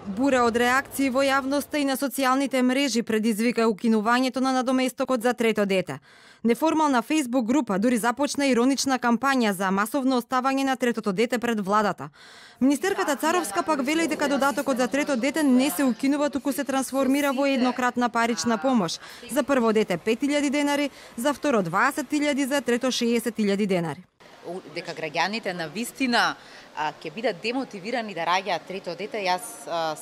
Бура од реакции во јавноста и на социјалните мрежи предизвика укинувањето на надоместокот за трето дете. Неформална Facebook група дури започна иронична кампања за масовно оставање на третото дете пред владата. Министерката Царовска пак вели дека додатокот за трето дете не се укинува, туку се трансформира во еднократна парична помош. За прво дете 5.000 денари, за второ 20.000, за трето 60.000 денари. Дека граѓаните на вистина ќе бидат демотивирани да раѓаат трето дете, јас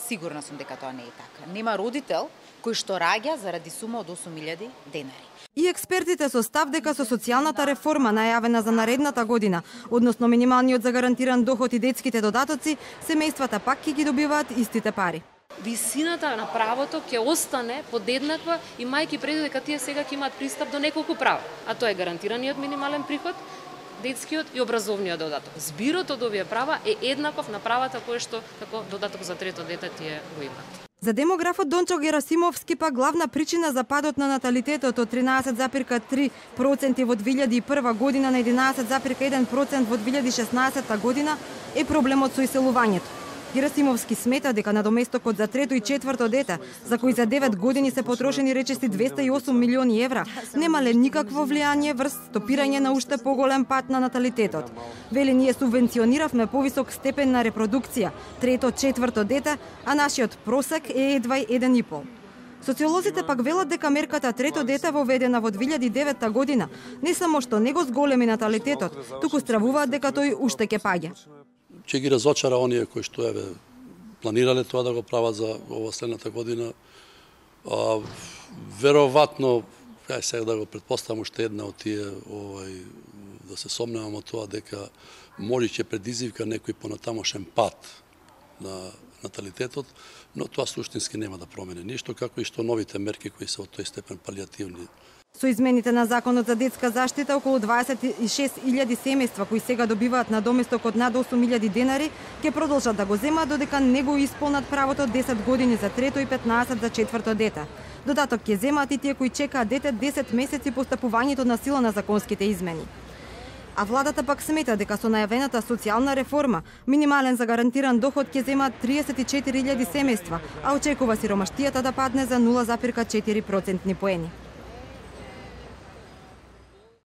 сигурна сум дека тоа не е така. Нема родител кој што раѓа заради сума од 8.000 денари. И експертите со став дека со социјалната реформа најавена за наредната година, односно минималниот за гарантиран доход и детските додатоци, семејствата пак ќе ги добиваат истите пари. Висината на правото ќе остане подеднаква, имајќи предвид дека тие сега ќе имаат пристап до неколку права, а тоа е гарантираниот минимален приход, детскиот и образовниот додаток. Збирот од овие права е еднаков на правата кои што како додаток за трето дете тие го имаат. За демографот Дончо Герасимовски па главна причина за падот на наталитетот од 13,3% во 2001 година на 11,1% во 2016 година е проблемот со иселувањето. Герасимовски смета дека надоместокот за трето и четврто дете, за кои за 9 години се потрошени речиси 208 милиони евра, немале никакво влијание врз стопирање на уште поголем пат на наталитетот. Вели, ние субвенциониравме повисок степен на репродукција, трето, четврто дете, а нашиот просек е едва 1,5. Социолозите пак велат дека мерката трето дете воведена во 2009 година не само што не го зголеми наталитетот, туку стравуваат дека тој уште ќе паѓа. Ќе ги разочара оние кои што планирале тоа да го прават за ова следната година. Веројатно, сега да го претпоставам уште една од тие, да се сомневам од тоа дека може ќе предизвика некој понатамошен пат на наталитетот, но тоа суштински нема да промени ништо, како и што новите мерки кои се од тој степен палијативни. Со измените на Законот за детска заштита, околу 26.000 семејства кои сега добиваат надоместок од над 8.000 денари, ќе продолжат да го земаат додека не го исполнат правото 10 години за трето и 15 за четврто дете. Додаток ќе земаат и тие кои чекаат дете 10 месеци по стапувањето на сила на законските измени. А владата пак смета дека со најавената социјална реформа, минимален за гарантиран доход ќе земаат 34.000 семејства, а очекува сиромаштијата да падне за 0,4% поени.